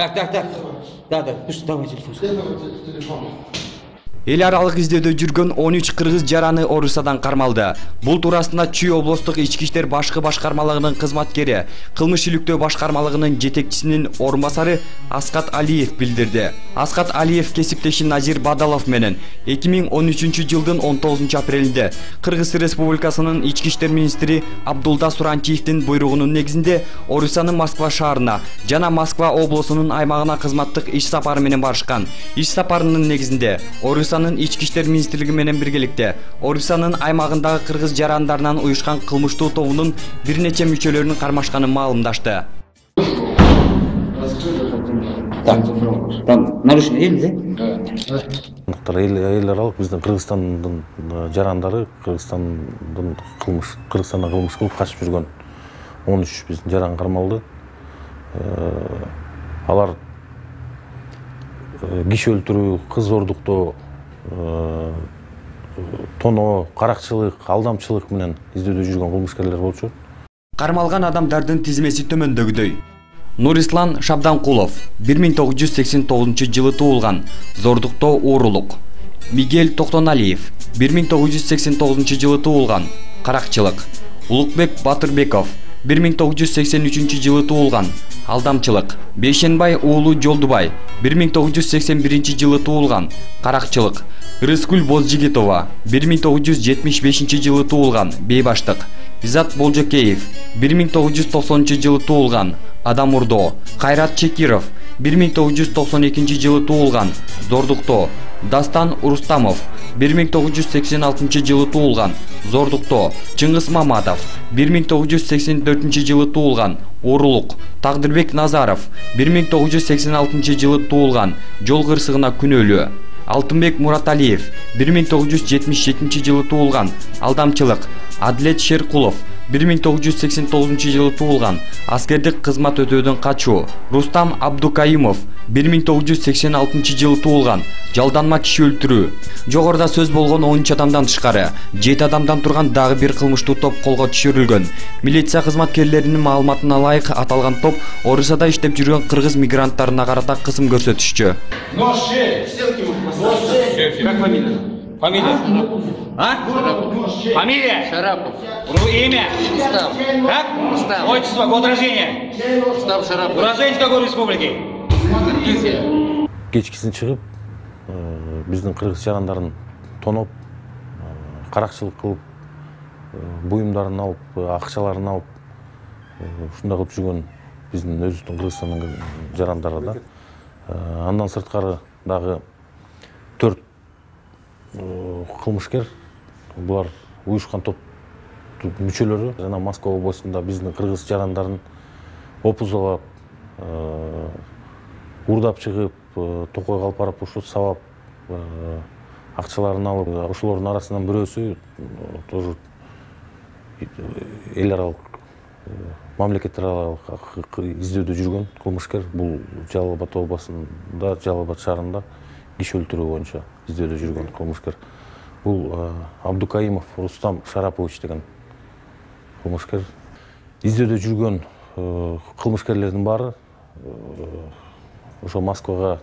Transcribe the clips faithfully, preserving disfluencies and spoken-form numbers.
Так, так, так. Да, да, пусть давай телефон. Эл аралык издөөдө жүргөн он үч кыргыз жараны Орусиядан кармалды. Бул туурасында Чүй облустук ички иштер башкы башкармалыгынын кызматкери, кылмыш иликтөө башкармалыгынын жетекчисинин орун басары Аскат Алиев билдирди. Аскат Алиев кесиптеши Назир Бадалов менен эки миң он үчүнчү жылдын он тогузунчу апрелинде Кыргыз Республикасынын ички иштер министри Абдулда Суранчиевдин буйругунун негизинде Орусиянын Москва шаарына жана Москва облусунун аймагына кызматтык иш сапары менен барышкан. Иш сапарынын негизинде Орусиянын ички иштер министрлиги менен биргеликте Орусиянын аймагындагы кыргыз жарандарынан уюшкан кылмыштуу тобунун бир нече мүчөлөрүнүн кармашканын маалымдашты. Там нарушение элди, да? Эл аралык биздин Кыргызстандын жарандары Кыргызстандын кылмыш Кыргызстандан кылмыш кылып качып жүргөн он үч биздин жаран кармалды. Алар киши өлтүрүү, кыз ордуктоо, тоноо, каракчылык, алдамчылык менен издөөдө жүргөн кылмышкерлер болчу. Кармалган адамдардын тизмеси төмөндөгүдөй. Нурислан Шабданкулов бир миң тогуз жүз сексен тогузунчу жылы туулган, зордуктоо уурулук. Мигель Токтоналиев бир миң тогуз жүз сексен тогузунчу жылы туулган, каракчылык. Улукбек Батырбеков бир миң тогуз жүз сексен үчүнчү жылы туулган, алдамчылык. Бейшенбай уулу Жолдубай бир миң тогуз жүз сексен биринчи жылы туулган, каракчылык. Рыскүл Бозжигитова бир миң тогуз жүз жетимиш бешинчи жылы туулган, бейбаштык. Изат Болжокеев бир миң тогуз жүз токсонунчу жылы туулган, адам урдоо. Кайрат Чекиров бир миң тогуз жүз токсон экинчи жылы туулган, зордуктоо. Дастан Урустамов бир миң тогуз жүз сексен алтынчы жылы туулган, зордуктоо. Чыңгыз Маматов бир миң тогуз жүз сексен төртүнчү жылы туулган, уурулук. Тагдырбек Назаров бир миң тогуз жүз сексен алтынчы жылы туулган, жол кырсыгына күнөөлүү. Алтынбек Мураталиев бир миң тогуз жүз жетимиш жетинчи жылы туулган, алдамчылык. Адлет Шеркулов бир миң тогуз жүз сексен тогузунчу жылы туулган, аскердик кызмат өтөөдөн качуу. Рустам Абдукаимов бир миң тогуз жүз сексен алтынчы жылы туулган, жалданма киши өлтүрүү. Жогоруда сөз болгон он үч адамдан тышкары жети адамдан турган дагы бир кылмыштуу топ колго түшүрүлгөн. Милиция кызматкерлеринин маалыматына ылайык аталган топ Орусияда иштеп жүргөн кыргыз мигранттарына карата кысым көрсөтүшчү. Как фамилия? Фамилия? А? Фамилия? Шарапов. Имя? Устав. Как? Устав. Отчество, год рождения? Устав Шарапов. Уроженец какой республики? Киргизия. Кечкисин чыгып, биздин кыргыз жарандарын тоноп, каракчылык кылып, буюмдарын алып, акчаларын алып, ушундай кылып жүргөн биздин өзүбүздүн Кыргызстандын жарандары да. Андан сырткары дагы төрт кылмышкер, булар уюшкан топ мүчөлөрү жана Москва облусунда биздин кыргыз жарандарын опузалап, урдап чыгып, токойго алып барып ушу сабап, акчаларын алып, ошолордун арасынан бирөөсү тоже эл аралык, мамлекет аралык издөөдө жүргөн кылмышкер. Бул Жалал Абад областында, Жалал Абад шаарында киши өлтүрүү боюнча издөөдө жүргөн кылмышкер. Бул Абдукаимов Рустам Шарапович деген кылмышкер. Издөөдө жүргөн кылмышкерлердин баары ошо Москвага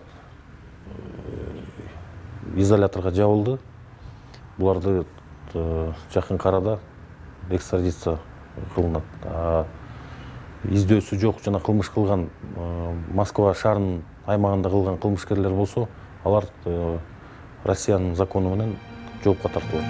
изоляторго жабылды. Буларды жакын арада экстрадиция кылынат. Издөөсү жок жана кылмыш кылган Москва шаарынын аймагында кылган кылмышкерлер болсо, алар Россиянын закону менен жоопко тартылат.